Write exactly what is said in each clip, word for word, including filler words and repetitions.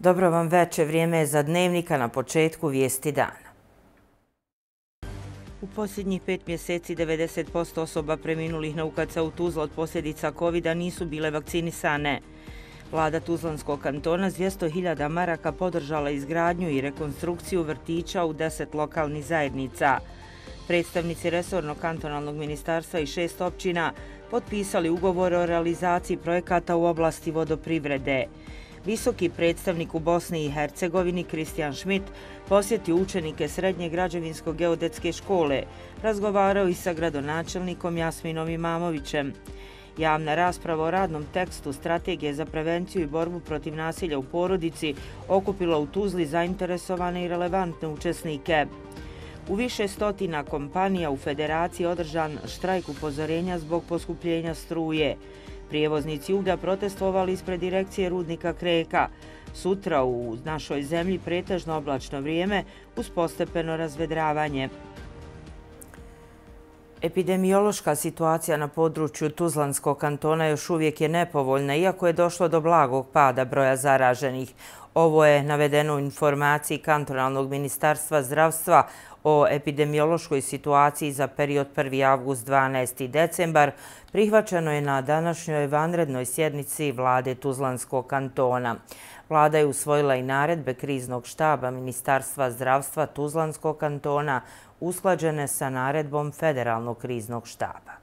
Dobro vam veče, vrijeme je za Dnevnika na početku vijesti dana. U posljednjih pet mjeseci devedeset posto osoba preminulih na U K C u Tuzla od posljedica kovida nisu bile vakcinisane. Vlada Tuzlanskog kantona s dvjesto hiljada maraka podržala izgradnju i rekonstrukciju vrtića u deset lokalnih zajednica. Predstavnici resornog kantonalnog ministarstva i šest općina potpisali ugovor o realizaciji projekata u oblasti vodoprivrede. Visoki predstavnik u Bosni i Hercegovini Kristijan Šmit posjetio učenike Srednje građevinsko-geodetske škole, razgovarao i sa gradonačelnikom Jasminom Imamovićem. Javna rasprava o radnom tekstu Strategije za prevenciju i borbu protiv nasilja u porodici okupila u Tuzli zainteresovane i relevantne učesnike. U više stotina kompanija u Federaciji održan štrajk upozorenja zbog poskupljenja struje. Prijevoznici uglja protestovali ispred direkcije rudnika Kreka. Sutra u našoj zemlji pretežno oblačno vrijeme uz postepeno razvedravanje. Epidemiološka situacija na području Tuzlanskog kantona još uvijek je nepovoljna, iako je došlo do blagog pada broja zaraženih. Ovo je navedeno u informaciji kantonalnog ministarstva zdravstva o epidemiološkoj situaciji za period prvi avgust do dvanaesti decembar, prihvaćeno je na današnjoj vanrednoj sjednici vlade Tuzlanskog kantona. Vlada je usvojila i naredbe kriznog štaba Ministarstva zdravstva Tuzlanskog kantona usklađene sa naredbom Federalnog kriznog štaba.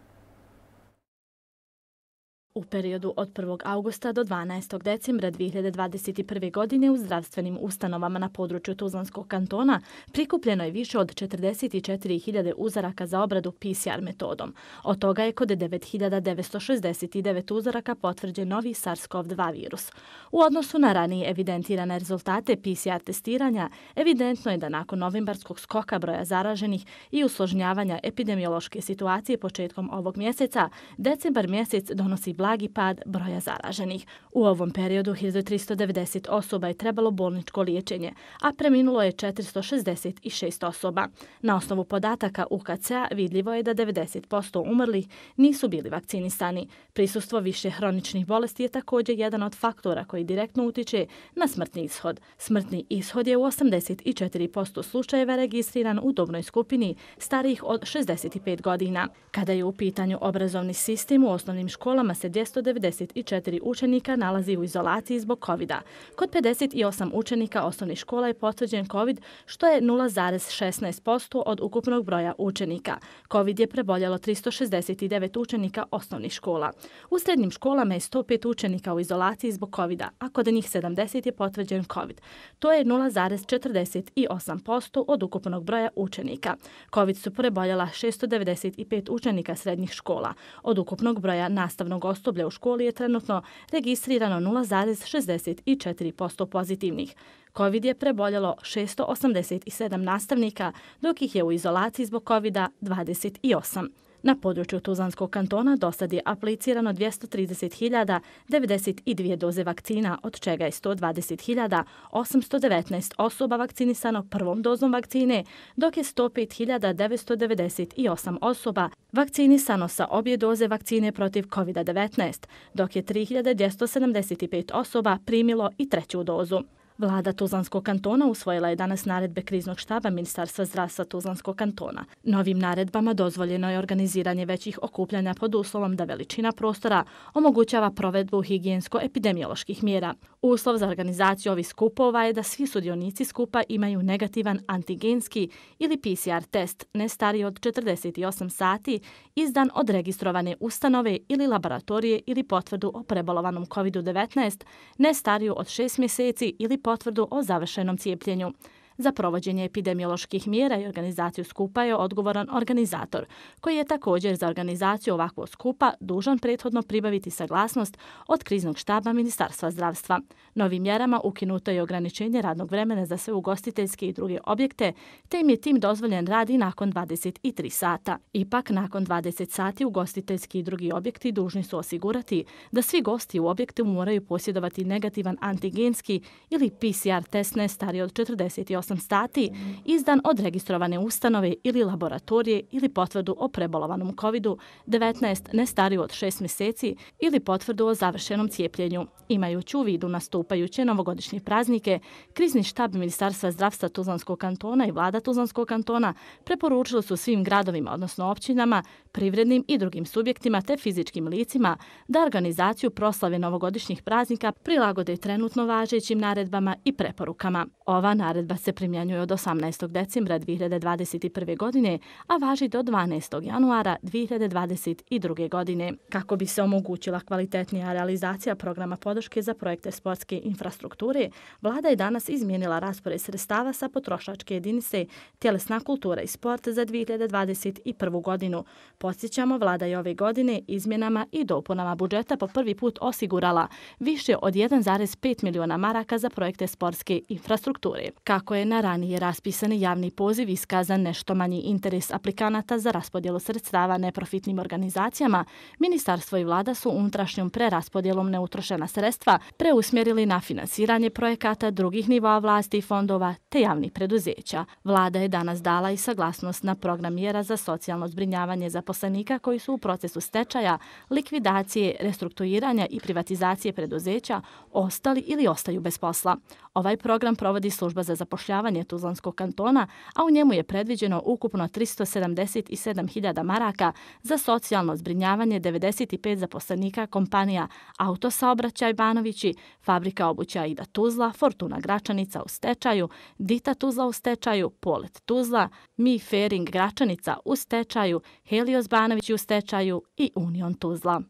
U periodu od prvog avgusta do dvanaestog decembra dvije hiljade dvadeset prve. godine u zdravstvenim ustanovama na području Tuzlanskog kantona prikupljeno je više od četrdeset četiri hiljade uzoraka za obradu P C R metodom. Od toga je kod devet hiljada devetsto šezdeset devet uzoraka potvrđen novi SARS-CoV dva virus. U odnosu na ranije evidentirane rezultate P C R testiranja, evidentno je da nakon novembarskog skoka broja zaraženih i usložnjavanja epidemiološke situacije početkom ovog mjeseca, decembar mjesec donosi blagi pad broja zaraženih. U ovom periodu hiljadu tristo devedeset osoba je trebalo bolničko liječenje, a preminulo je četiristo šezdeset šest osoba. Na osnovu podataka U K C-a vidljivo je da devedeset posto umrlih nisu bili vakcinisani. Prisustvo više hroničnih bolesti je također jedan od faktora koji direktno utiče na smrtni ishod. Smrtni ishod je u osamdeset četiri posto slučajeva registriran u dobnoj skupini starijih od šezdeset pet godina. Kada je u pitanju obrazovni sistem, u osnovnim školama se dvjesto devedeset četiri učenika nalazi u izolaciji zbog kovida. Kod pedeset osam učenika osnovnih škola je potvrđen covid, što je nula zarez šesnaest posto od ukupnog broja učenika. Covid je preboljelo tristo šezdeset devet učenika osnovnih škola. U srednjim školama je sto pet učenika u izolaciji zbog covida, a kod njih sedamdeset je potvrđen covid. To je nula zarez četrdeset osam posto od ukupnog broja učenika. Covid su preboljela šesto devedeset pet učenika srednjih škola. Od ukupnog broja nastavnog osoblja u školi je trenutno registrirano nula zarez šezdeset četiri posto pozitivnih. Covid je preboljelo šesto osamdeset sedam nastavnika, dok ih je u izolaciji zbog covida dvadeset osam. Na području Tuzlanskog kantona dosad je aplicirano dvjesto trideset hiljada devedeset dvije doze vakcina, od čega je sto dvadeset hiljada osamsto devetnaest osoba vakcinisano prvom dozom vakcine, dok je sto pet hiljada devetsto devedeset osam osoba vakcinisano sa obje doze vakcine protiv covid devetnaest, dok je tri hiljade dvjesto sedamdeset pet osoba primilo i treću dozu. Vlada Tuzlanskog kantona usvojila je danas naredbe kriznog štaba Ministarstva zdravstva Tuzlanskog kantona. Novim naredbama dozvoljeno je organiziranje većih okupljanja pod uslovom da veličina prostora omogućava provedbu higijensko-epidemioloških mjera. Uslov za organizaciju ovih skupova je da svi sudionici skupa imaju negativan antigenski ili P C R test ne stariji od četrdeset osam sati izdan od registrovane ustanove ili laboratorije ili potvrdu o prebolovanom covid devetnaest ne stariju od šest mjeseci ili potvrdu o završenom cijepljenju. Za provođenje epidemioloških mjera i organizaciju skupa je odgovoran organizator, koji je također za organizaciju ovakvog skupa dužan prethodno pribaviti saglasnost od kriznog štaba Ministarstva zdravstva. Novim mjerama ukinuto je ograničenje radnog vremena za sve ugostiteljske i druge objekte, te im je tim dozvoljen rad i nakon dvadeset tri sata. Ipak, nakon dvadeset sati ugostiteljski i drugi objekti dužni su osigurati da svi gosti u objektu moraju posjedovati negativan antigenski ili P C R test ne stariji od četrdeset osam osam sati, izdan od registrovane ustanove ili laboratorije ili potvrdu o prebolovanom kovidu devetnaest ne stariju od šest mjeseci ili potvrdu o završenom cijepljenju. Imajući u vidu nastupajuće novogodišnje praznike, krizni štab Ministarstva zdravstva Tuzlanskog kantona i vlada Tuzlanskog kantona preporučili su svim gradovima, odnosno općinama, privrednim i drugim subjektima te fizičkim licima da organizaciju proslave novogodišnjih praznika prilagode trenutno važećim naredbama i preporukama. Ova naredba se primjenjuje od osamnaestog decembra dvije hiljade dvadeset prve. godine, a važi do dvanaestog januara dvije hiljade dvadeset druge. godine. Kako bi se omogućila kvalitetnija realizacija programa podrške za projekte sportske infrastrukture, vlada je danas izmijenila raspored sredstava sa potrošačke jedinice tjelesna kultura i sport za dvije hiljade dvadeset prvu. godinu. Podsjećamo, vlada je ove godine izmjenama i dopunama budžeta po prvi put osigurala više od jedan zarez pet miliona maraka za projekte sportske infrastrukture. Kako je na ranije raspisani javni poziv iskazan nešto manji interes aplikanata za raspodjelu sredstava neprofitnim organizacijama, ministarstvo i vlada su unutrašnjom preraspodjelom neutrošena sredstva preusmjerili na finansiranje projekata drugih nivoa vlasti i fondova te javnih preduzeća. Vlada je danas dala i saglasnost na program mjera za socijalno zbrinjavanje zaposlenika koji su u procesu stečaja, likvidacije, restrukturiranja i privatizacije preduzeća ostali ili ostaju bez posla. Ovaj program provodi Služba za zapošljavanje Tuzlanskog kantona, a u njemu je predviđeno ukupno tristo sedamdeset sedam hiljada maraka za socijalno zbrinjavanje devedeset pet zaposlenika kompanija Autosaobraćaj Banovići, Fabrika obuća Aida Tuzla, Fortuna Gračanica u stečaju, Dita Tuzla u stečaju, Polet Tuzla, Mi Fering Gračanica u stečaju, Helios Banovići u stečaju i Union Tuzla.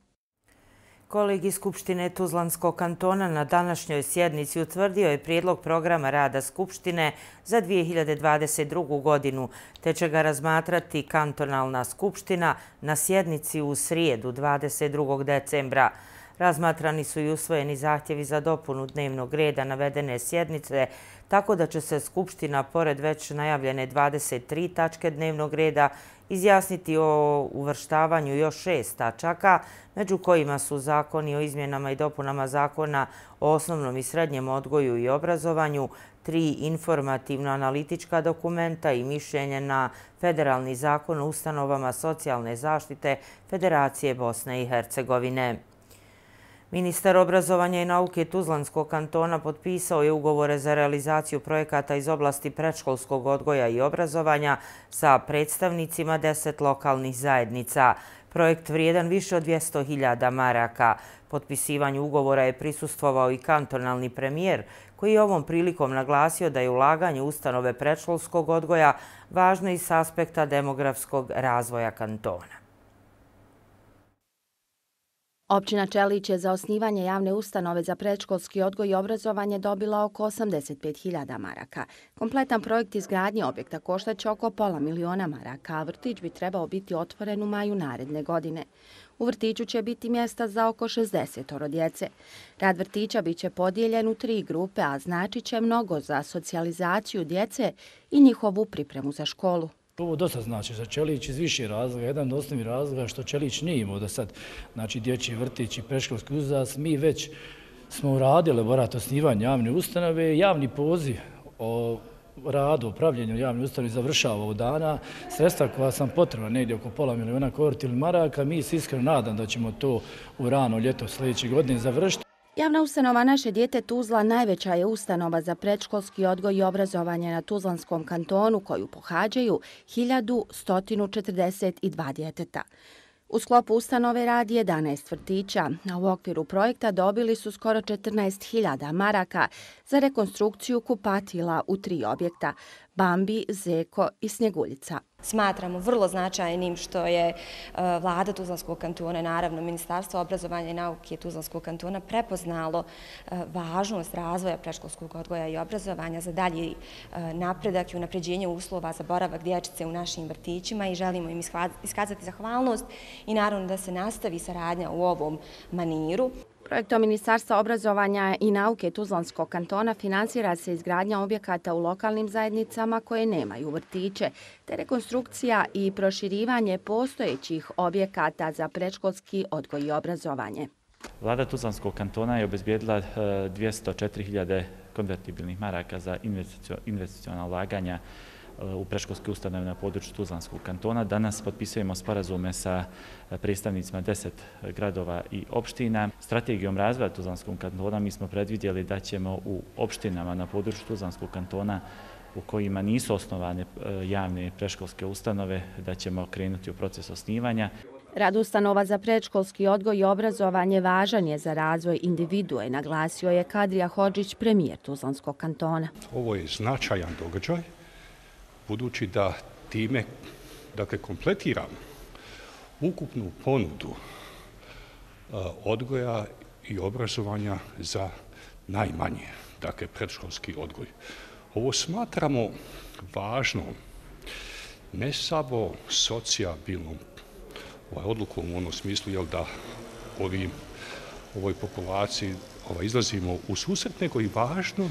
Kolegij Skupštine Tuzlanskog kantona na današnjoj sjednici utvrdio je prijedlog programa rada Skupštine za dvije hiljade dvadeset drugu. godinu, te će ga razmatrati kantonalna skupština na sjednici u srijedu dvadeset drugog decembra. Razmatrani su i usvojeni zahtjevi za dopunu dnevnog reda navedene sjednice, tako da će se Skupština, pored već najavljene dvadeset tri tačke dnevnog reda, izjasniti o uvrštavanju još šest tačaka, među kojima su zakoni o izmjenama i dopunama zakona o osnovnom i srednjem odgoju i obrazovanju, tri informativno-analitička dokumenta i mišljenje na Federalni zakon o ustanovama socijalne zaštite Federacije Bosne i Hercegovine. Ministar obrazovanja i nauke Tuzlanskog kantona potpisao je ugovore za realizaciju projekata iz oblasti predškolskog odgoja i obrazovanja sa predstavnicima deset lokalnih zajednica. Projekt vrijedan više od dvjesto hiljada maraka. Potpisivanju ugovora je prisustvovao i kantonalni premijer, koji je ovom prilikom naglasio da je ulaganje u ustanove predškolskog odgoja važno i s aspekta demografskog razvoja kantona. Općina Čelić je za osnivanje javne ustanove za predškolski odgoj i obrazovanje dobila oko osamdeset pet hiljada maraka. Kompletan projekt izgradnje objekta koštaće oko pola miliona maraka, a vrtić bi trebao biti otvoren u maju naredne godine. U vrtiću će biti mjesta za oko šezdeset djece. Rad vrtića biće podijeljen u tri grupe, a znači će mnogo za socijalizaciju djece i njihovu pripremu za školu. Ovo dosta znači za Čelić iz više razloga. Jedan od osnovnih razloga što Čelić nije imao do sad, znači dječji vrtić i predškolski uzrast. Mi već smo uradili elaborat osnivanja javne ustanove, javni poziv o radu, upravljanju javne ustanove završava ovog dana. Sredstva koja sam potrebna, negdje oko pola miliona konvertibilnih maraka, mi se iskreno nadam da ćemo to u rano ljeto sljedeće godine završiti. Javna ustanova Naše dijete Tuzla najveća je ustanova za predškolski odgoj i obrazovanje na Tuzlanskom kantonu koju pohađaju hiljadu sto četrdeset dva djeteta. U sklopu ustanove radi jedanaest vrtića, a u okviru projekta dobili su skoro četrnaest hiljada maraka za rekonstrukciju kupatila u tri objekta – Bambi, Zeko i Snjeguljica. Smatramo vrlo značajnim što je vlada Tuzlanskog kantona, naravno Ministarstvo obrazovanja i nauke Tuzlanskog kantona prepoznalo važnost razvoja predškolskog odgoja i obrazovanja za dalji napredak i unapređenje uslova za boravak dječice u našim vrtićima i želimo im iskazati zahvalnost i naravno da se nastavi saradnja u ovom maniru. Projektom Ministarstva obrazovanja i nauke Tuzlanskog kantona finansira se izgradnja objekata u lokalnim zajednicama koje nemaju vrtiće, te rekonstrukcija i proširivanje postojećih objekata za predškolski odgoj i obrazovanje. Vlada Tuzlanskog kantona je obezbijedila dvjesto četiri hiljade konvertibilnih maraka za investiciona ulaganja u predškolske ustanove na području Tuzlanskog kantona. Danas potpisujemo sporazume sa predstavnicima deset gradova i opština. Strategijom razvoja Tuzlanskog kantona mi smo predvidjeli da ćemo u opštinama na području Tuzlanskog kantona u kojima nisu osnovane javne predškolske ustanove, da ćemo krenuti u proces osnivanja. Rad ustanova za predškolski odgoj i obrazovanje važan je za razvoj individue, naglasio je Kadrija Hodžić, premijer Tuzlanskog kantona. Ovo je značajan događaj, budući da time dakle, kompletiramo ukupnu ponudu odgoja i obrazovanja za najmanje, dakle predškolski odgoj. Ovo smatramo važnom, ne samo socijabilnom ovaj, odlukom u onom smislu jel, da ovim, ovoj populaciji ovaj, izlazimo u susret, nego i važnom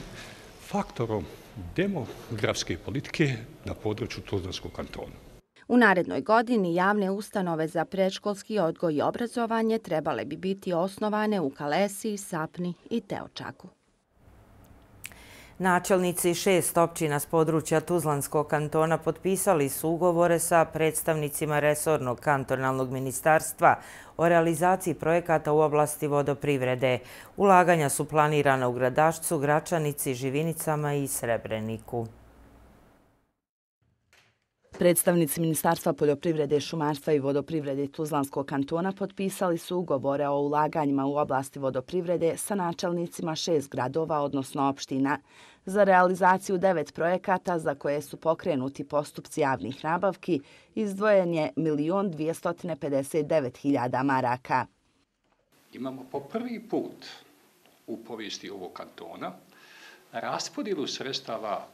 faktorom demografske politike na području Tuzlanskog kantona. U narednoj godini javne ustanove za predškolski odgoj i obrazovanje trebale bi biti osnovane u Kalesiji, Sapni i Teočaku. Načelnici šest općina s područja Tuzlanskog kantona potpisali su ugovore sa predstavnicima resornog kantonalnog ministarstva o realizaciji projekata u oblasti vodoprivrede. Ulaganja su planirana u Gradašcu, Gračanici, Živinicama i Srebreniku. Predstavnici Ministarstva poljoprivrede, šumarstva i vodoprivrede Tuzlanskog kantona potpisali su ugovore o ulaganjima u oblasti vodoprivrede sa načelnicima šest gradova, odnosno opština, za realizaciju devet projekata za koje su pokrenuti postupci javnih nabavki. Izdvojen je milion dvjesto pedeset devet hiljada maraka. Imamo po prvi put u povijesti ovog kantona raspodjelu sredstava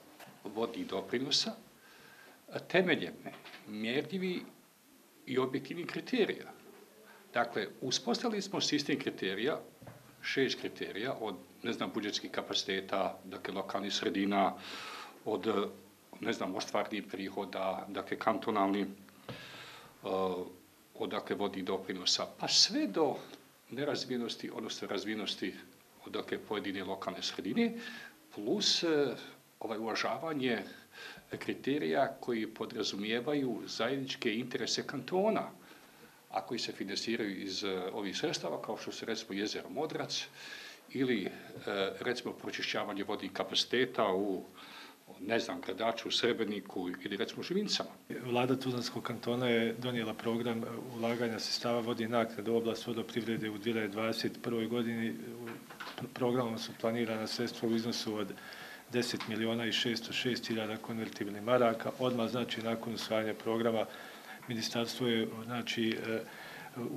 vodnih doprinosa temeljem mjerljivi i objektivnih kriterija. Dakle, uspostavili smo sistem kriterija, šest kriterija od, ne znam, budžetskih kapaciteta, dakle, lokalnih sredina, od, ne znam, ostvarnih prihoda, dakle, kantonalni, od, dakle, vodnih doprinosa, pa sve do nerazvijenosti, odnosno razvijenosti od, dakle, pojedine lokalne sredine, plus ovaj uvažavanje kriterija koji podrazumijevaju zajedničke interese kantona, a koji se finansiraju iz ovih sredstava, kao što su recimo jezero Modrac ili recimo pročišćavanje vodnih kapaciteta u, ne znam, Gradaču, Srebreniku ili recimo Živinicama. Vlada Tuzlanskog kantona je donijela program ulaganja sredstava vodnih naknada u oblast vodoprivrede u dvije hiljade dvadeset prvoj godini. Programom su planirana sredstva u iznosu od deset miliona i šesto šest hiljada konvertibilnih maraka. Odmah, znači, nakon usvajanja programa, ministarstvo je, znači,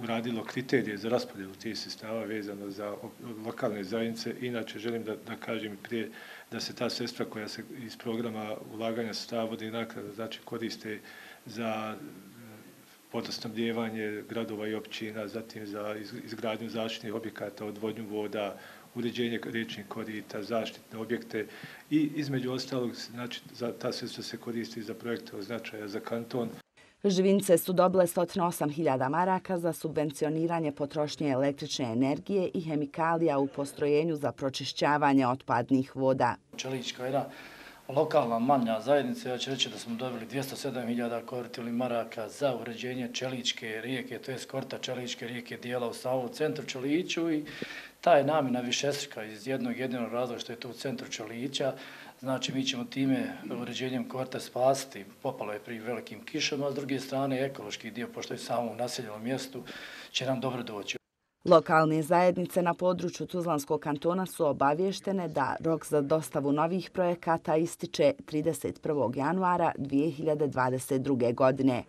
uradilo kriterije za raspodjelu tih sredstava vezano za lokalne zajednice. Inače, želim da, da kažem prije da se ta sredstva koja se iz programa ulaganja sredstava vodnih naknada, znači, koriste za vodosnabdijevanje gradova i općina, zatim za izgradnju zaštitnih objekata, odvodnju voda, uređenje riječnih korita, zaštitne objekte i između ostalog, znači, za, ta sredstva se koristi za projekte od značaja za kanton. Živinice su dobile sto osam hiljada maraka za subvencioniranje potrošnje električne energije i hemikalija u postrojenju za pročišćavanje otpadnih voda. Čelička jedna lokalna manja zajednica, ja ću reći da smo dobili dvjesto sedam hiljada konvertibilnih maraka za uređenje Čeličke rijeke, to je korita Čeličke rijeke dijela u samom centru Čeliću i ta je namjena višestruka iz jednog jedinog razloga što je to u centru Čelića. Znači, mi ćemo time uređenjem korita spasiti, popalo je pri velikim kišama, a s druge strane ekološki dio, pošto je samo u naseljenom mjestu, će nam dobro doći. Lokalne zajednice na području Tuzlanskog kantona su obavještene da rok za dostavu novih projekata ističe trideset prvog januara dvije hiljade dvadeset druge. godine.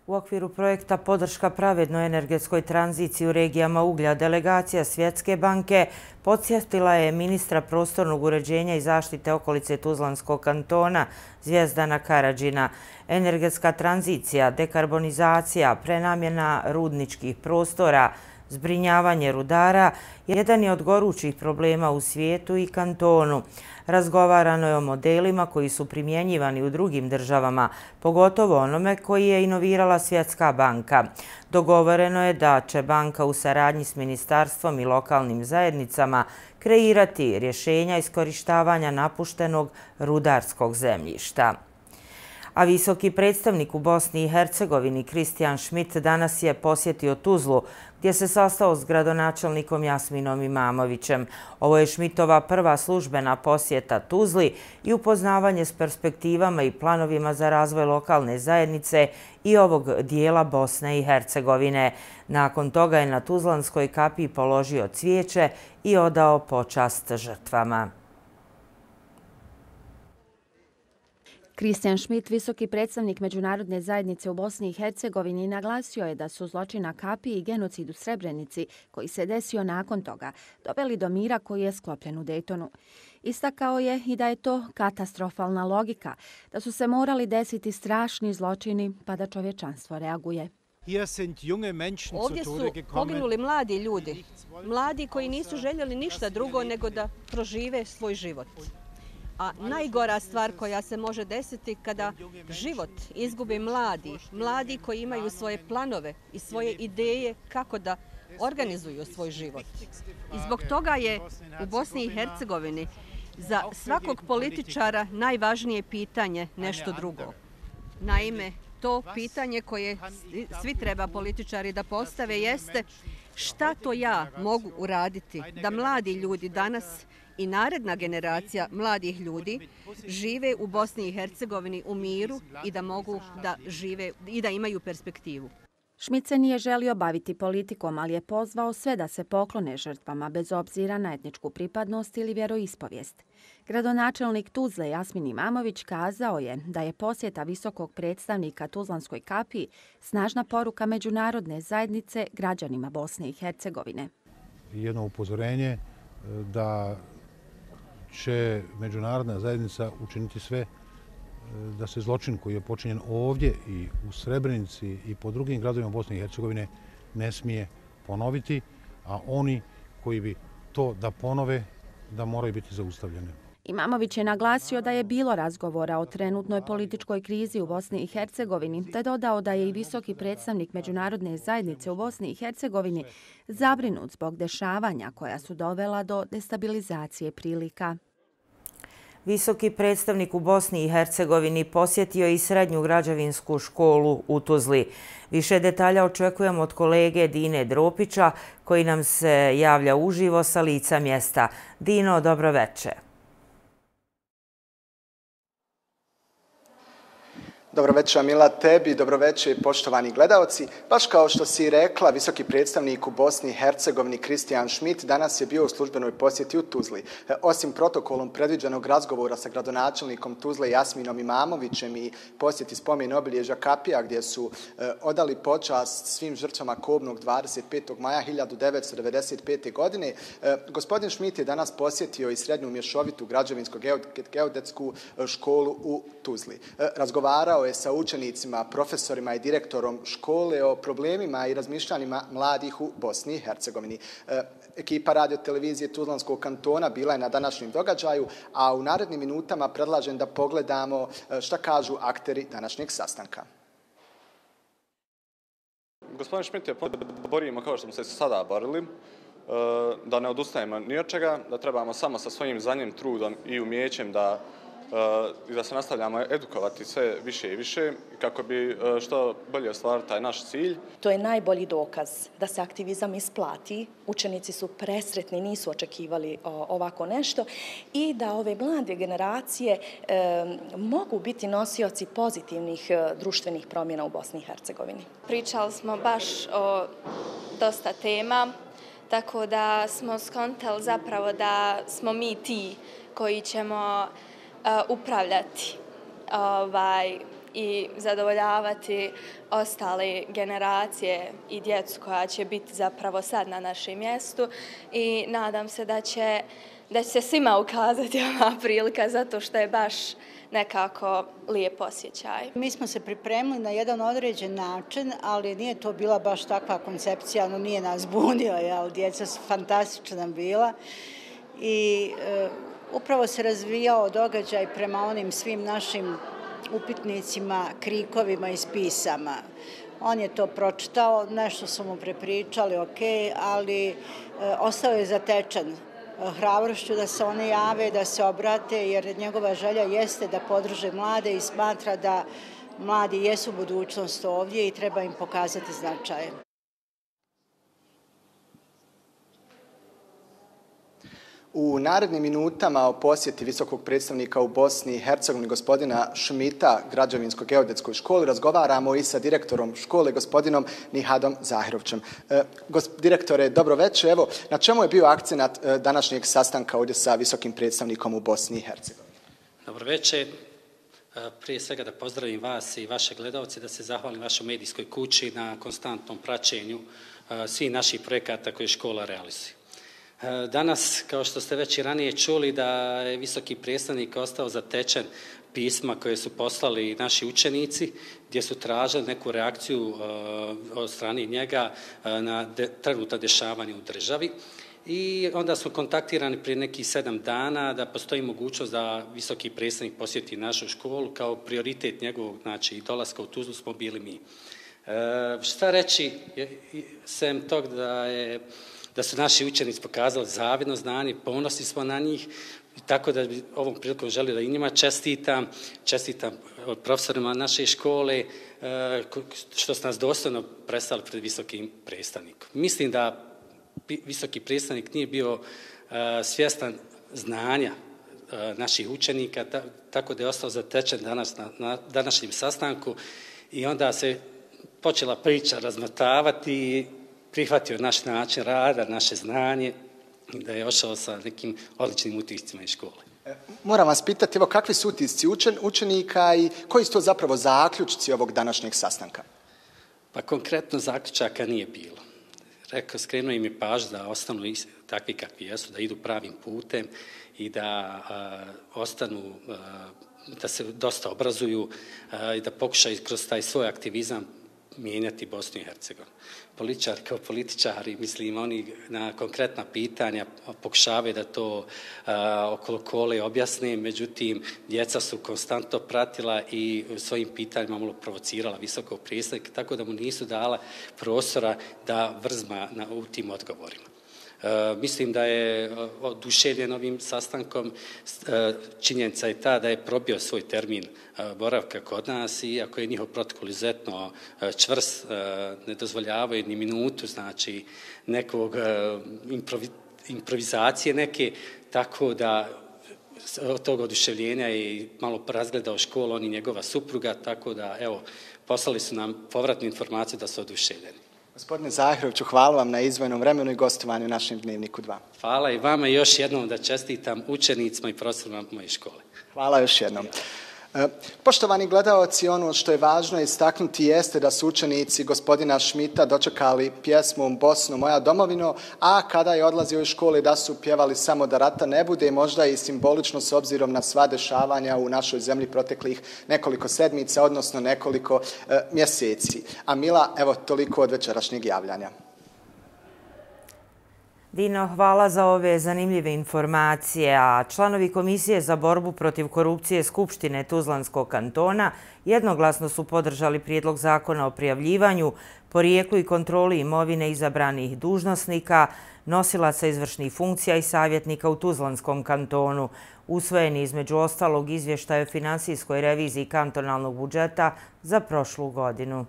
U okviru projekta Podrška pravednoj energetskoj tranziciji u regijama uglja, delegacija Svjetske banke podsjetila je ministra prostornog uređenja i zaštite okolice Tuzlanskog kantona Zvjezdana Karadžina. Energetska tranzicija, dekarbonizacija, prenamjena rudničkih prostora, zbrinjavanje rudara jedan je od gorućih problema u svijetu i kantonu. Razgovarano je o modelima koji su primjenjivani u drugim državama, pogotovo onome koji je inovirala Svjetska banka. Dogovoreno je da će banka u saradnji s ministarstvom i lokalnim zajednicama kreirati rješenja iskorištavanja napuštenog rudarskog zemljišta. A visoki predstavnik u Bosni i Hercegovini Kristijan Schmidt danas je posjetio Tuzlu, gdje se sastao s gradonačelnikom Jasminom Imamovićem. Ovo je Schmidtova prva službena posjeta Tuzli i upoznavanje s perspektivama i planovima za razvoj lokalne zajednice i ovog dijela Bosne i Hercegovine. Nakon toga je na Tuzlanskoj kapiji položio cvijeće i odao počast žrtvama. Kristijan Schmidt, visoki predstavnik međunarodne zajednice u Bosni i Hercegovini, naglasio je da su zločin na kapiji i genocid u Srebrenici, koji se desio nakon toga, doveli do mira koji je sklopljen u Daytonu. Istakao je i da je to katastrofalna logika, da su se morali desiti strašni zločini pa da čovječanstvo reaguje. Ovdje su poginuli mladi ljudi, mladi koji nisu željeli ništa drugo nego da prožive svoj život. A najgora stvar koja se može desiti kada život izgubi mladi, mladi koji imaju svoje planove i svoje ideje kako da organizuju svoj život. I zbog toga je u Bosni i Hercegovini za svakog političara najvažnije pitanje nešto drugo. Naime, to pitanje koje svi treba političari da postave jeste šta to ja mogu uraditi da mladi ljudi danas i naredna generacija mladih ljudi žive u Bosni i Hercegovini u miru i da mogu da žive i da imaju perspektivu. Schmidt se nije želio baviti politikom, ali je pozvao sve da se poklone žrtvama bez obzira na etničku pripadnost ili vjeroispovijest. Gradonačelnik Tuzle Jasmin Imamović kazao je da je posjeta visokog predstavnika Tuzlanskoj kapiji snažna poruka međunarodne zajednice građanima Bosne i Hercegovine. Jedno upozorenje da će međunarodna zajednica učiniti sve da se zločin koji je počinjen ovdje i u Srebrenici i po drugim gradovima Bosne i Hercegovine ne smije ponoviti, a oni koji bi to da ponove, da moraju biti zaustavljeni. Imamović je naglasio da je bilo razgovora o trenutnoj političkoj krizi u Bosni i Hercegovini, te dodao da je i visoki predstavnik međunarodne zajednice u Bosni i Hercegovini zabrinut zbog dešavanja koja su dovela do destabilizacije prilika. Visoki predstavnik u Bosni i Hercegovini posjetio i srednju građevinsku školu u Tuzli. Više detalja očekujemo od kolege Dine Dropića, koji nam se javlja uživo sa lica mjesta. Dino, dobro večer. Dobro večer, Mila, tebi, dobro večer, poštovani gledaoci. Baš kao što si rekla, visoki predstavnik u Bosni i Hercegovini Kristijan Schmidt danas je bio u službenoj posjeti u Tuzli. Osim protokolom predviđenog razgovora sa gradonačelnikom Tuzle Jasminom Imamovićem i posjeti spomen obilježja kapija gdje su odali počast svim žrtvama kobnog dvadeset petog maja hiljadu devetsto devedeset pete. godine, gospodin Schmidt je danas posjetio i srednju mješovitu građevinsko-geodetsku školu u Tuzli. Razgovarao je sa učenicima, profesorima i direktorom škole o problemima i razmišljanjima mladih u Bosni i Hercegovini. E, ekipa radio-televizije Tuzlanskog kantona bila je na današnjem događaju, a u narednim minutama predlažem da pogledamo šta kažu akteri današnjeg sastanka. Gospodin Schmidt je borimo kao što smo se sada borili, da ne odustajemo ni od čega, da trebamo samo sa svojim znanjem, trudom i umjećem da i da se nastavljamo edukovati sve više i više kako bi što bolje ostvarili taj naš cilj. To je najbolji dokaz da se aktivizam isplati. Učenici su presretni, nisu očekivali ovako nešto i da ove mlade generacije e, mogu biti nosioci pozitivnih društvenih promjena u Bosni i Hercegovini. Pričali smo baš o dosta tema, tako da smo skontali zapravo da smo mi ti koji ćemo upravljati ovaj, i zadovoljavati ostale generacije i djecu koja će biti zapravo sad na našem mjestu i nadam se da će, da će se svima ukazati ova prilika zato što je baš nekako lijep osjećaj. Mi smo se pripremili na jedan određen način, ali nije to bila baš takva koncepcija, no nije nas bunio, jel? Djeca su fantastična bila i e, upravo se razvijao događaj prema onim svim našim upitnicima, krikovima i spisama. On je to pročitao, nešto su mu prepričali, ok, ali e, ostao je zatečen hrabrošću da se one jave, da se obrate, jer njegova želja jeste da podrže mlade i smatra da mladi jesu budućnost ovdje i treba im pokazati značaje. U narednim minutama o posjeti visokog predstavnika u Bosni i Hercegovini gospodina Šmita građevinsko-geodetskoj školi razgovaramo i sa direktorom škole gospodinom Nihadom Zahirovćem. E, gosp, direktore, dobro večer. Evo, na čemu je bio akcenat e, današnjeg sastanka ovdje sa visokim predstavnikom u Bosni i Hercegovini? Dobro večer. Prije svega da pozdravim vas i vaše gledalce, da se zahvalim vašoj medijskoj kući na konstantnom praćenju svih naših projekata koje škola realizuje. Danas, kao što ste već i ranije čuli, da je visoki predstavnik ostao zatečen pisma koje su poslali naši učenici, gdje su tražili neku reakciju od strane njega na trenutna dešavanja u državi. I onda smo kontaktirani prije nekih sedam dana da postoji mogućnost da visoki predstavnik posjeti našu školu. Kao prioritet njegovog, znači, dolaska u Tuzlu smo bili mi. E, šta reći, sem tog da je da su naši učenici pokazali zavidno znanje, ponosni smo na njih, tako da bi ovom prilikom želio da i njima čestitam, čestitam profesorima naše škole, što su nas dostojno predstavili pred visokim predstavnikom. Mislim da visoki predstavnik nije bio svjestan znanja naših učenika, tako da je ostao zatečen danas na današnjem sastanku i onda se počela priča razmotavati i prihvatio naš način rada, naše znanje, da je ošao sa nekim odličnim utiscima iz škole. Moram vas pitati, evo, kakvi su utisci učen, učenika i koji su to zapravo zaključci ovog današnjeg sastanka? Pa konkretno zaključaka nije bilo. Rekao, skrenuo im je pažnju da ostanu takvi kakvi jesu, da idu pravim putem i da a, ostanu, a, da se dosta obrazuju a, i da pokušaju kroz taj svoj aktivizam mijenjati Bosnu i Hercegovinu. Političar kao političari, mislim, oni na konkretna pitanja pokušavaju da to a, okolo kole objasne, međutim, djeca su konstantno pratila i svojim pitanjima malo provocirala visokog predstavnika, tako da mu nisu dala prostora da vrzma na, u tim odgovorima. E, mislim da je oduševljen ovim sastankom. E, činjenica je ta da je probio svoj termin e, boravka kod nas, iako je njihov protokol izuzetno e, čvrst, e, ne dozvoljavaju ni minutu, znači nekog e, improvi, improvizacije neke, tako da od tog oduševljenja je malo razgledao školu, on i njegova supruga, tako da, evo, poslali su nam povratnu informaciju da su oduševljeni. Gospodine Zahiroviću, hvala vam na izdvojenom vremenu i gostovanju u našem Dnevniku dva. Hvala i vama još jednom da čestitam učenicima i profesorima moje škole. Hvala još jednom. Poštovani gledaoci, ono što je važno istaknuti jeste da su učenici gospodina Šmita dočekali pjesmu Bosno, moja domovino, a kada je odlazio iz škole da su pjevali samo da rata ne bude, možda i simbolično s obzirom na sva dešavanja u našoj zemlji proteklih nekoliko sedmica, odnosno nekoliko e, mjeseci. A Mila, evo toliko od večerašnjeg javljanja. Dino, hvala za ove zanimljive informacije, a članovi Komisije za borbu protiv korupcije Skupštine Tuzlanskog kantona jednoglasno su podržali prijedlog zakona o prijavljivanju, porijeklu i kontroli imovine izabranih dužnosnika, nosilaca izvršnih funkcija i savjetnika u Tuzlanskom kantonu. Usvojeni između ostalog izvještaj o finansijskoj reviziji kantonalnog budžeta za prošlu godinu.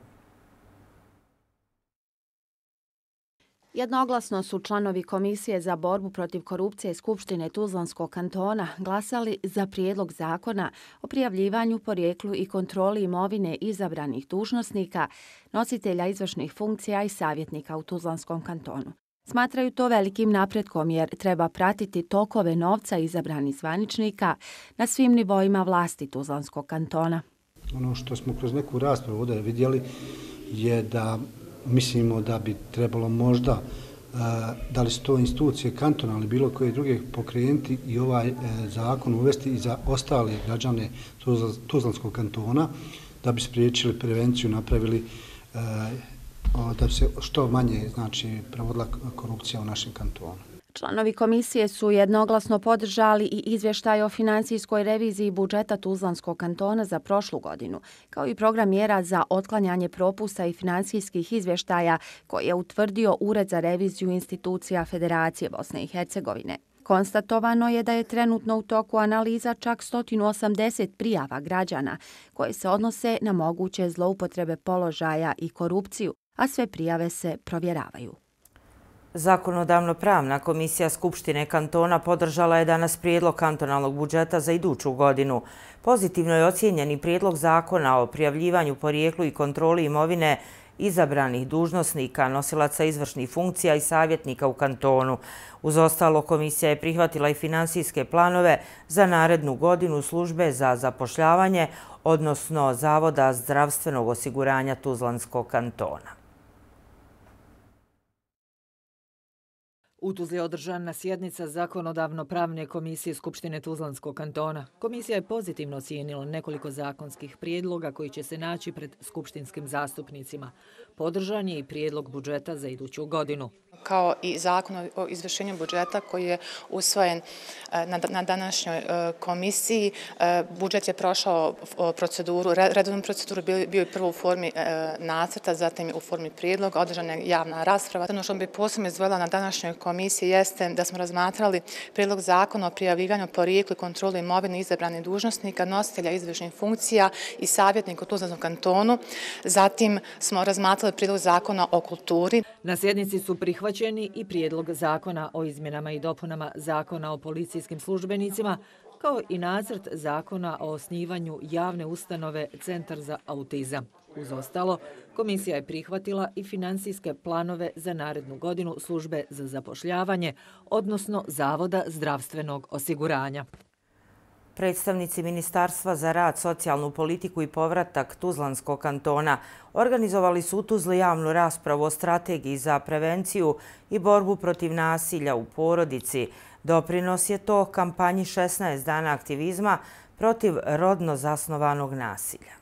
Jednoglasno su članovi Komisije za borbu protiv korupcije Skupštine Tuzlanskog kantona glasali za prijedlog zakona o prijavljivanju, porijeklu i kontroli imovine izabranih dužnosnika, nositelja izvršnih funkcija i savjetnika u Tuzlanskom kantonu. Smatraju to velikim napretkom jer treba pratiti tokove novca izabranih zvaničnika na svim nivoima vlasti Tuzlanskog kantona. Ono što smo kroz neku raspravu ovdje vidjeli je da mislimo da bi trebalo možda, da li su to institucije kantona ili bilo koje druge pokrenuti i ovaj zakon uvesti i za ostale građane Tuzlanskog kantona, da bi spriječili prevenciju, napravili da bi se što manje, znači, provodila korupcija u našem kantonu. Članovi komisije su jednoglasno podržali i izvještaj o finansijskoj reviziji budžeta Tuzlanskog kantona za prošlu godinu, kao i program mjera za otklanjanje propusta i finansijskih izvještaja koje je utvrdio Ured za reviziju institucija Federacije Bosne i Hercegovine. Konstatovano je da je trenutno u toku analiza čak sto osamdeset prijava građana koje se odnose na moguće zloupotrebe položaja i korupciju, a sve prijave se provjeravaju. Zakonodavno pravna komisija Skupštine kantona podržala je danas prijedlog kantonalnog budžeta za iduću godinu. Pozitivno je ocijenjen i prijedlog zakona o prijavljivanju porijeklu i kontroli imovine izabranih dužnosnika, nosilaca izvršnih funkcija i savjetnika u kantonu. Uz ostalo, komisija je prihvatila i finansijske planove za narednu godinu službe za zapošljavanje, odnosno Zavoda zdravstvenog osiguranja Tuzlanskog kantona. U Tuzli je održana sjednica Zakonodavno-pravne komisije Skupštine Tuzlanskog kantona. Komisija je pozitivno ocijenila nekoliko zakonskih prijedloga koji će se naći pred skupštinskim zastupnicima. Podržan je i prijedlog budžeta za iduću godinu. Kao i zakon o izvršenju budžeta koji je usvojen na današnjoj komisiji. Budžet je prošao proceduru, redovnu proceduru, bio je prvo u formi nacrta, zatim u formi prijedloga, održana je javna rasprava. Ono što bi posebno izdvojila na današnjoj komisiji jeste da smo razmatrali prijedlog zakona o prijavljivanju porijeklu i kontroli imovine izabranih dužnosnika, nositelja izvršnih funkcija i savjetnika u Tuzlanskom kantonu. Zatim smo razmatrali prijedlog zakona o kulturi. Na sjednici su prihvaćeni i prijedlog zakona o izmjenama i dopunama zakona o policijskim službenicima, kao i nacrt zakona o osnivanju javne ustanove Centar za autizam. Uz ostalo, komisija je prihvatila i finansijske planove za narednu godinu službe za zapošljavanje, odnosno Zavoda zdravstvenog osiguranja. Predstavnici Ministarstva za rad, socijalnu politiku i povratak Tuzlanskog kantona organizovali su u Tuzli javnu raspravu o strategiji za prevenciju i borbu protiv nasilja u porodici. Doprinos je to kampanji šesnaest dana aktivizma protiv rodno zasnovanog nasilja.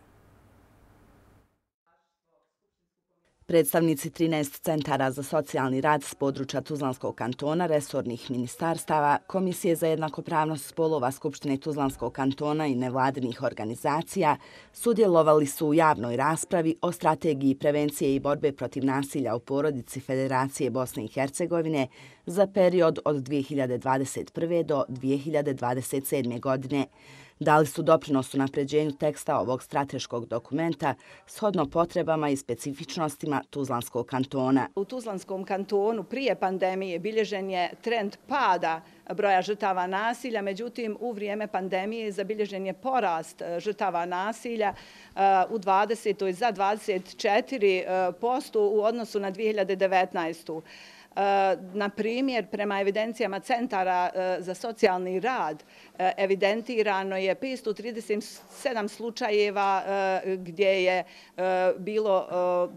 Predstavnici trinaest centara za socijalni rad s područja Tuzlanskog kantona, resornih ministarstava, Komisije za jednakopravnost spolova Skupštine Tuzlanskog kantona i nevladinih organizacija sudjelovali su u javnoj raspravi o strategiji prevencije i borbe protiv nasilja u porodici Federacije Bosne i Hercegovine za period od dvije hiljade dvadeset prve. do dvije hiljade dvadeset sedme. godine. Dali su doprinos u napređenju teksta ovog strateškog dokumenta shodno potrebama i specifičnostima Tuzlanskog kantona. U Tuzlanskom kantonu prije pandemije bilježen je trend pada broja žrtava nasilja, međutim u vrijeme pandemije zabilježen je porast žrtava nasilja u dvadesetoj za dvadeset četiri posto u odnosu na dvije hiljade devetnaestu. Na primjer, prema evidencijama Centara za socijalni rad evidentirano je petsto trideset sedam slučajeva gdje je bilo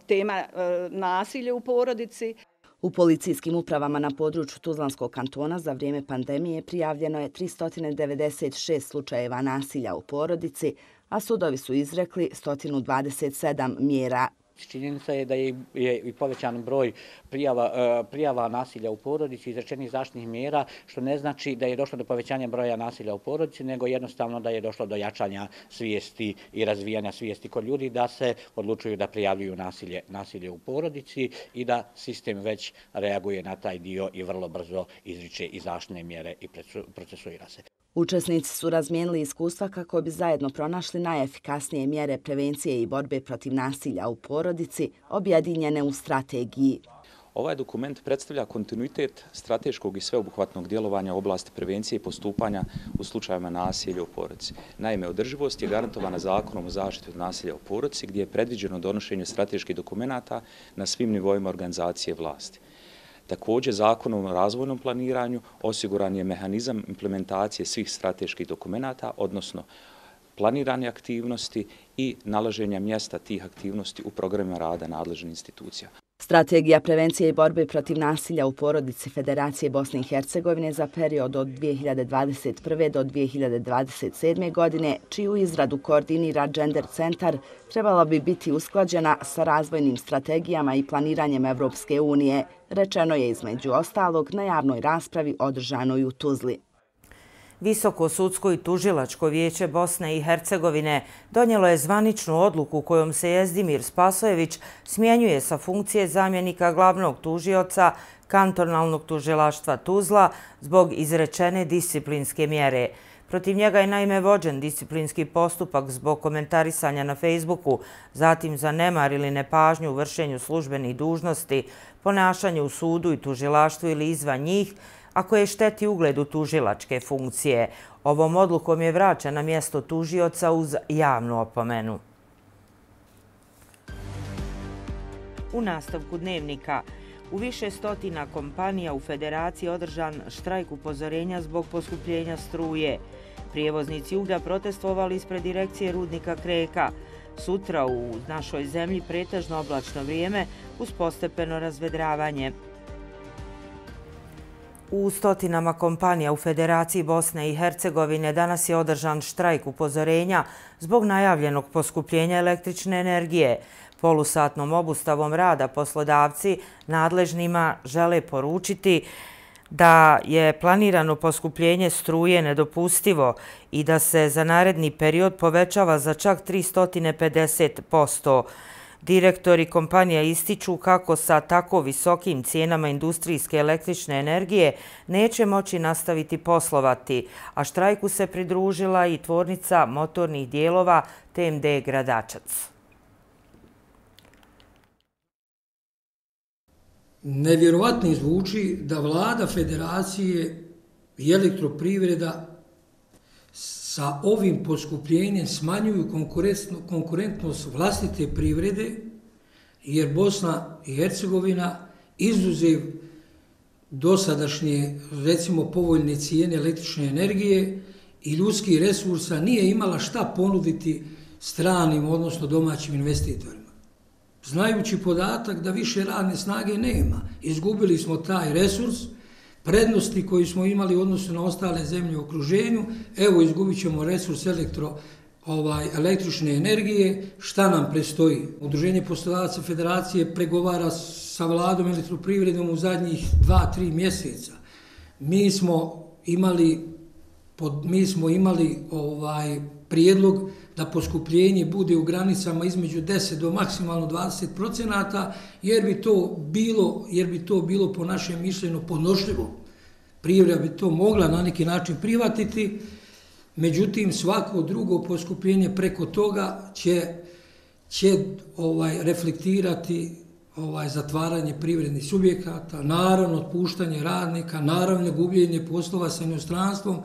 tema nasilja u porodici. U policijskim upravama na području Tuzlanskog kantona za vrijeme pandemije prijavljeno je tristo devedeset šest slučajeva nasilja u porodici, a sudovi su izrekli sto dvadeset sedam mjera. Činjenica je da je i povećan broj prijava, prijava nasilja u porodici, izrečenih zaštitnih mjera, što ne znači da je došlo do povećanja broja nasilja u porodici, nego jednostavno da je došlo do jačanja svijesti i razvijanja svijesti kod ljudi da se odlučuju da prijavljuju nasilje, nasilje u porodici i da sistem već reaguje na taj dio i vrlo brzo izriče i zaštitne mjere i procesuira se. Učesnici su razmijenili iskustva kako bi zajedno pronašli najefikasnije mjere prevencije i borbe protiv nasilja u porodici, objedinjene u strategiji. Ovaj dokument predstavlja kontinuitet strateškog i sveobuhvatnog djelovanja u oblasti prevencije i postupanja u slučajevima nasilja u porodici. Naime, održivost je garantovana zakonom o zaštiti od nasilja u porodici, gdje je predviđeno donošenje strateških dokumenata na svim nivoima organizacije vlasti. Također, zakonom o razvojnom planiranju osiguran je mehanizam implementacije svih strateških dokumenata, odnosno planirane aktivnosti i nalaženja mjesta tih aktivnosti u programima rada nadležnih institucija. Strategija prevencije i borbe protiv nasilja u porodici Federacije Bosne i Hercegovine za period od dvije hiljade dvadeset prve. do dvije hiljade dvadeset sedme. godine, čiju izradu koordinira Gender centar, trebala bi biti usklađena sa razvojnim strategijama i planiranjem Evropske unije, rečeno je između ostalog na javnoj raspravi održanoj u Tuzli. Visoko sudsko i tužilačko vijeće Bosne i Hercegovine donijelo je zvaničnu odluku kojom se Jezdimir Spasojević smjenjuje sa funkcije zamjenika glavnog tužioca kantonalnog tužilaštva Tuzla zbog izrečene disciplinske mjere. Protiv njega je naime vođen disciplinski postupak zbog komentarisanja na Facebooku, zatim za nemar ili nepažnju u vršenju službenih dužnosti, ponašanje u sudu i tužilaštvu ili izvan njih, a koje šteti ugledu tužilačke funkcije. Ovom odlukom je vraćen na mjesto tužioca uz javnu opomenu. U nastavku dnevnika, u više stotina kompanija u Federaciji je održan štrajk upozorenja zbog poskupljenja struje. Prijevoznici uglja protestovali ispred direkcije rudnika Kreka. Sutra u našoj zemlji pretežno oblačno vrijeme uz postepeno razvedravanje. U stotinama kompanija u Federaciji Bosne i Hercegovine danas je održan štrajk upozorenja zbog najavljenog poskupljenja električne energije. Polusatnom obustavom rada poslodavci nadležnima žele poručiti da je planirano poskupljenje struje nedopustivo i da se za naredni period povećava za čak tristo pedeset posto. Direktori kompanija ističu kako sa tako visokim cijenama industrijske električne energije neće moći nastaviti poslovati, a štrajku se pridružila i tvornica motornih dijelova T M D Gradačac. Nevjerovatno zvuči da vlada Federacije i elektroprivreda sa ovim poskupljenjem smanjuju konkurentnost vlastite privrede, jer Bosna i Hercegovina izuzev dosadašnje, recimo, povoljne cijene električne energije i ljudskih resursa nije imala šta ponuditi stranim, odnosno domaćim investitorima. Znajući podatak da više radne snage nema, izgubili smo taj resurs, prednosti koji smo imali u odnosu na ostale zemlje u okruženju, evo izgubit ćemo resurs elektro, ovaj, električne energije, šta nam prestoji? Udruženje poslodavaca Federacije pregovara sa vladom elektroprivredom u zadnjih dva, tri mjeseca. Mi smo imali, pod, mi smo imali ovaj, prijedlog da poskupljenje bude u granicama između deset do maksimalno dvadeset procenata, jer bi to bilo, jer bi to bilo po našem mišljenju podnošljivo. Privreda bi to mogla na neki način prihvatiti, međutim svako drugo poskupljenje preko toga će, će ovaj, reflektirati ovaj, zatvaranje privrednih subjekata, naravno otpuštanje radnika, naravno gubljenje poslova sa inostranstvom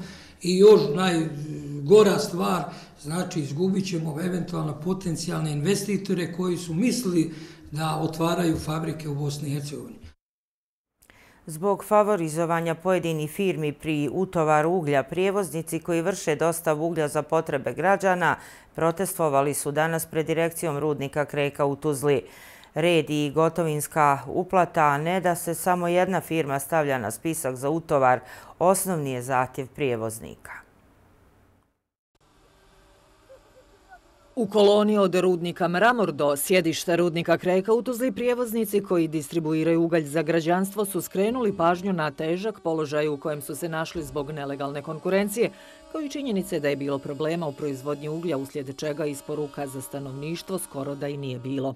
i još najgora stvar, znači izgubit ćemo eventualno potencijalne investitore koji su mislili da otvaraju fabrike u Bosni i Hercegovini. Zbog favorizovanja pojedinih firmi pri utovaru uglja, prijevoznici koji vrše dostavu uglja za potrebe građana protestovali su danas pred direkcijom rudnika Kreka u Tuzli. Red i gotovinska uplata, a ne da se samo jedna firma stavlja na spisak za utovar, osnovni je zahtjev prijevoznika. U koloni od rudnika Mramor do sjedišta rudnika Kreka u Tuzli prijevoznici koji distribuiraju ugalj za građanstvo su skrenuli pažnju na težak položaj u kojem su se našli zbog nelegalne konkurencije, kao i činjenice da je bilo problema u proizvodnji uglja, uslijed čega isporuka za stanovništvo skoro da i nije bilo.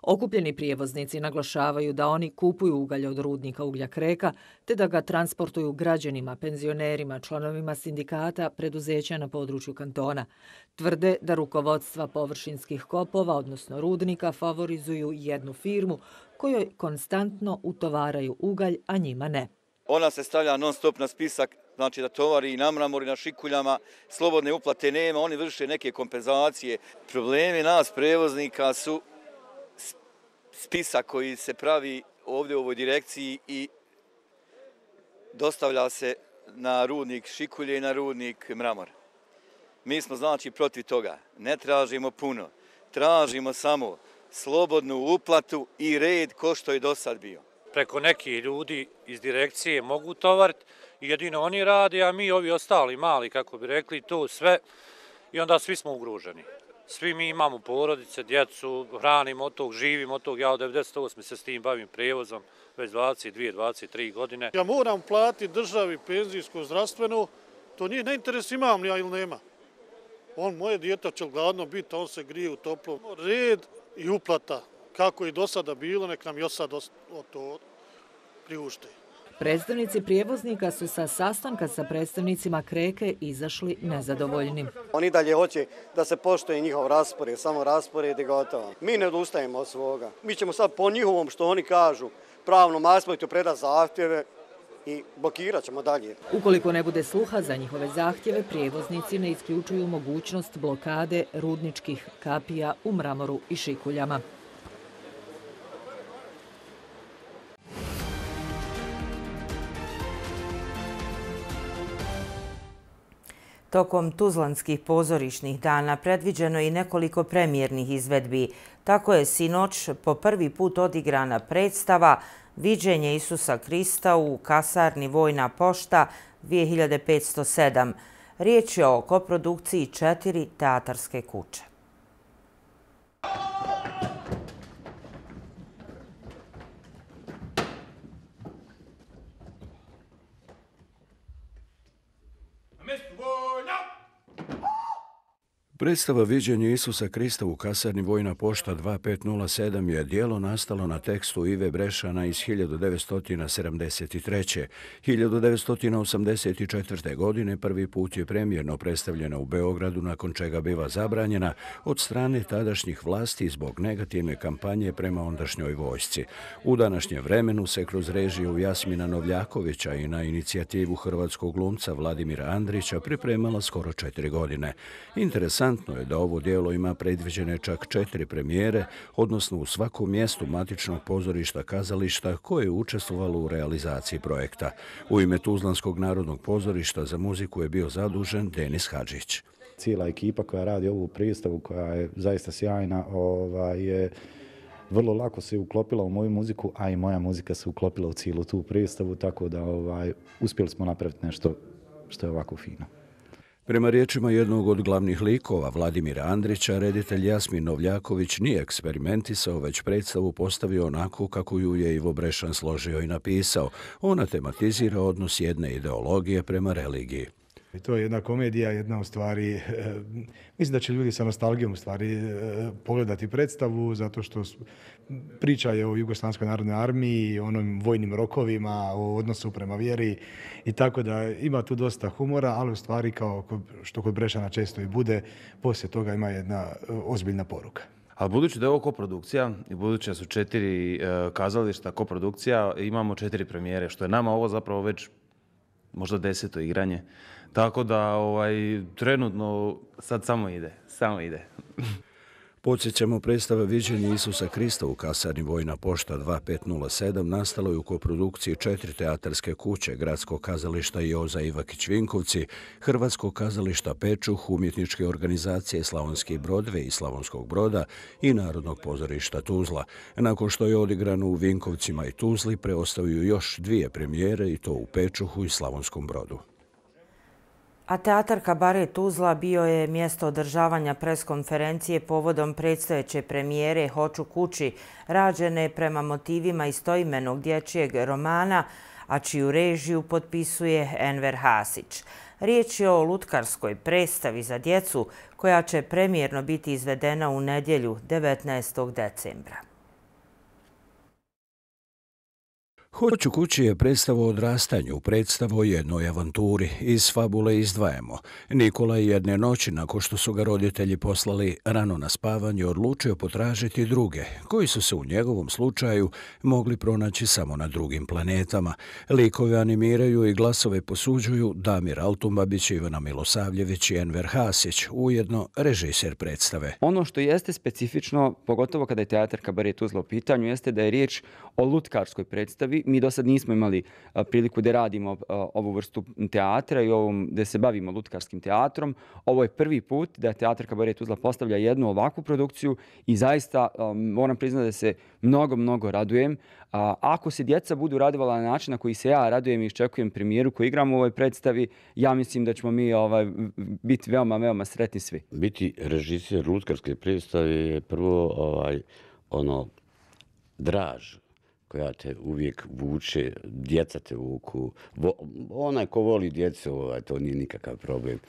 Okupljeni prijevoznici naglašavaju da oni kupuju ugalj od rudnika uglja Kreka, te da ga transportuju građanima, penzionerima, članovima sindikata, preduzeća na području kantona. Tvrde da rukovodstva površinskih kopova, odnosno rudnika, favorizuju jednu firmu kojoj konstantno utovaraju ugalj, a njima ne. Ona se stavlja non stop na spisak, znači da tovari i na Mramor i na Šikuljama, slobodne uplate nema, oni vrše neke kompenzacije. Problemi nas prevoznika su spisak koji se pravi ovdje u ovoj direkciji i dostavlja se na rudnik Šikulje i na rudnik Mramor. Mi smo znači protiv toga. Ne tražimo puno. Tražimo samo slobodnu uplatu i red ko što je do sad bio. Preko nekih ljudi iz direkcije mogu tovariti i jedino oni rade, a mi ovi ostali mali, kako bi rekli, to sve i onda svi smo ugruženi. Svi mi imamo porodice, djecu, hranimo od tog, živimo od tog. Ja od devedeset osme se s tim bavim prijevozom, već dvadeset dvije, dvadeset tri godine. Ja moram platiti državi penzijsko zdravstveno To nije na interes imam li ja ili nema. On, moje dijete će gladno biti, on se grije u toplom. Red i uplata, kako je do sada bilo, nek nam još sad to priušte. Predstavnici prijevoznika su sa sastanka sa predstavnicima Kreke izašli nezadovoljni. Oni dalje hoće da se poštuje njihov raspored, samo raspored i gotovo. Mi ne odustajemo od svoga. Mi ćemo sad po njihovom što oni kažu pravnom aspektu predati zahtjeve i blokirat ćemo dalje. Ukoliko ne bude sluha za njihove zahtjeve, prijevoznici ne isključuju mogućnost blokade rudničkih kapija u Mramoru i Šikuljama. Tokom Tuzlanskih pozorišnih dana predviđeno je i nekoliko premijernih izvedbi. Tako je sinoć po prvi put odigrana predstava Viđenje Isusa Krista u kasarni Vojna pošta dvije hiljade petsto sedam. Riječ je o koprodukciji četiri teatarske kuće. Predstava Viđenje Isusa Krista u kasarni Vojna pošta dva pet nula sedam je djelo nastalo na tekstu Ive Brešana iz hiljadu devetsto sedamdeset treće. hiljadu devetsto osamdeset četvrte. godine prvi put je premijerno predstavljena u Beogradu, nakon čega biva zabranjena od strane tadašnjih vlasti zbog negativne kampanje prema ondašnjoj vojsci. U današnjem vremenu se kroz režiju Jasmina Novljakovića i na inicijativu hrvatskog glumca Vladimira Andrića pripremala skoro četiri godine. Interesantno je da ovo djelo ima predviđene čak četiri premijere, odnosno u svakom mjestu matičnog pozorišta kazališta koje je učestvovalo u realizaciji projekta. U ime Tuzlanskog narodnog pozorišta za muziku je bio zadužen Denis Hadžić. Cijela ekipa koja radi ovu predstavu, koja je zaista sjajna, je vrlo lako se uklopila u moju muziku, a i moja muzika se uklopila u cijelu tu predstavu, tako da uspjeli smo napraviti nešto što je ovako fino. Prema riječima jednog od glavnih likova, Vladimira Andrića, reditelj Jasmin Novljaković nije eksperimentisao, već predstavu postavio onako kako ju je Ivo Brešan složio i napisao. Ona tematizira odnos jedne ideologije prema religiji. To je jedna komedija, jedna u stvari, mislim da će ljudi sa nostalgijom u stvari pogledati predstavu, zato što priča je o Jugoslavijskoj narodnoj armiji, o onim vojnim rokovima, o odnosu prema vjeri i tako da ima tu dosta humora, ali u stvari kao što kod Brešana često i bude, poslije toga ima jedna ozbiljna poruka. Ali budući da je ovo koprodukcija i budući da su četiri kazališta koprodukcija, imamo četiri premijere, što je nama ovo zapravo već možda deseto igranje. Tako da ovaj, trenutno sad samo ide, samo ide. Podsjećamo, predstava Viđenje Isusa Krista u kasarni Vojna pošta dva pet nula sedam nastalo je u koprodukciji četiri teatarske kuće, Gradskog kazališta Joza Ivakić Vinkovci, Hrvatskog kazališta Pečuh, umjetničke organizacije Slavonski Brodve i Slavonskog Broda i Narodnog pozorišta Tuzla. Nakon što je odigrano u Vinkovcima i Tuzli, preostaju još dvije premijere i to u Pečuhu i Slavonskom Brodu. A teatar Kabaret Tuzla bio je mjesto održavanja preskonferencije povodom predstojeće premijere Hoću kući, rađene prema motivima istoimenog dječjeg romana, a čiju režiju potpisuje Enver Hasić. Riječ je o lutkarskoj predstavi za djecu koja će premijerno biti izvedena u nedjelju devetnaestog decembra. Hoću kući je predstava o odrastanju, predstava o jednoj avanturi. Iz fabule izdvajamo. Nikola je jedne noći, nakon što su ga roditelji poslali rano na spavanje, odlučio potražiti druge, koji su se u njegovom slučaju mogli pronaći samo na drugim planetama. Likove animiraju i glasove posuđuju Damir Altumbabić, Ivana Milosavljević i Enver Hasić, ujedno režiser predstave. Ono što jeste specifično, pogotovo kada je teatar Kabaret Tuzla u pitanju, jeste da je riječ o lutkarskoj predstavi. Mi do sad nismo imali priliku da radimo ovu vrstu teatra i ovom, da se bavimo lutkarskim teatrom. Ovo je prvi put da teatar Kabaret Tuzla postavlja jednu ovakvu produkciju i zaista moram priznati da se mnogo, mnogo radujem. Ako se djeca budu radovala na način na koji se ja radujem i iščekujem premijeru koju igram u ovoj predstavi, ja mislim da ćemo mi ovaj, biti veoma, veoma sretni svi. Biti režiser lutkarske predstave je prvo ovaj, ono, draž koja te uvijek vuče, djeca te vuku. Onaj ko voli djecu, to nije nikakav problem.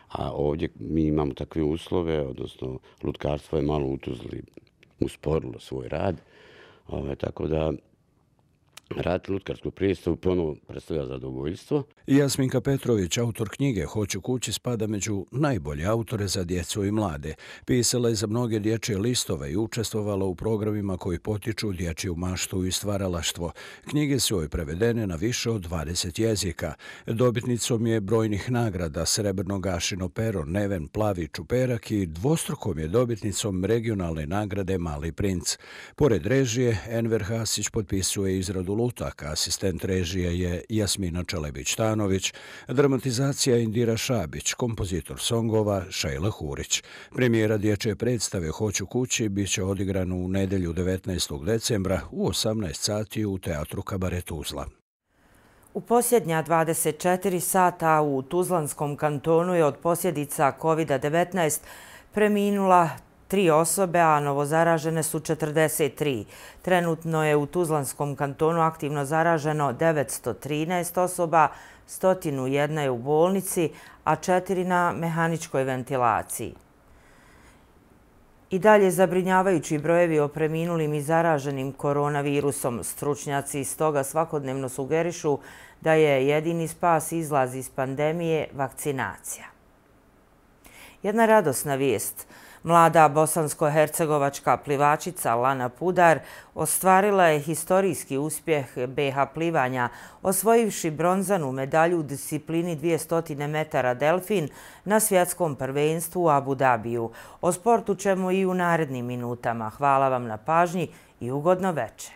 A ovdje mi imamo takve uslove, odnosno lutkarstvo je malo u Tuzli usporilo svoj rad, tako da raditi lutkarsku predstavu ponovo predstavlja zadovoljstvo. Jasminka Petrović, autor knjige Hoću kući, spada među najbolje autore za djecu i mlade. Pisala je za mnoge dječje listove i učestvovala u programima koji potiču dječju maštu i stvaralaštvo. Knjige su joj prevedene na više od dvadeset jezika. Dobitnicom je brojnih nagrada Srebrno gašino pero, Neven Plavi čuperak i dvostrukom je dobitnicom regionalne nagrade Mali princ. Pored režije, Enver Hasić potpisuje izradu lutaka, asistent režije je Jasmina Čelebić-Tanović, dramatizacija Indira Šabić, kompozitor songova Šejla Hurić. Premijera dječje predstave Hoću kući bit će odigrana u nedelju devetnaestog decembra u osamnaest sati u Teatru Kabaret Tuzla. U posljednja dvadeset četiri sata u Tuzlanskom kantonu je od posljedica kovid devetnaest preminula tri osobe, a novozaražene su četrdeset tri. Trenutno je u Tuzlanskom kantonu aktivno zaraženo devetsto trinaest osoba, sto jedna je u bolnici, a četiri na mehaničkoj ventilaciji. I dalje zabrinjavajući brojevi o preminulim i zaraženim koronavirusom. Stručnjaci iz toga svakodnevno sugerišu da je jedini spas izlaz iz pandemije vakcinacija. Jedna radosna vijest. Mlada bosansko-hercegovačka plivačica Lana Pudar ostvarila je historijski uspjeh be ha plivanja, osvojivši bronzanu medalju u disciplini dvjesto metara delfin na svjetskom prvenstvu u Abu Dabiju. O sportu ćemo i u narednim minutama. Hvala vam na pažnji i ugodno večer.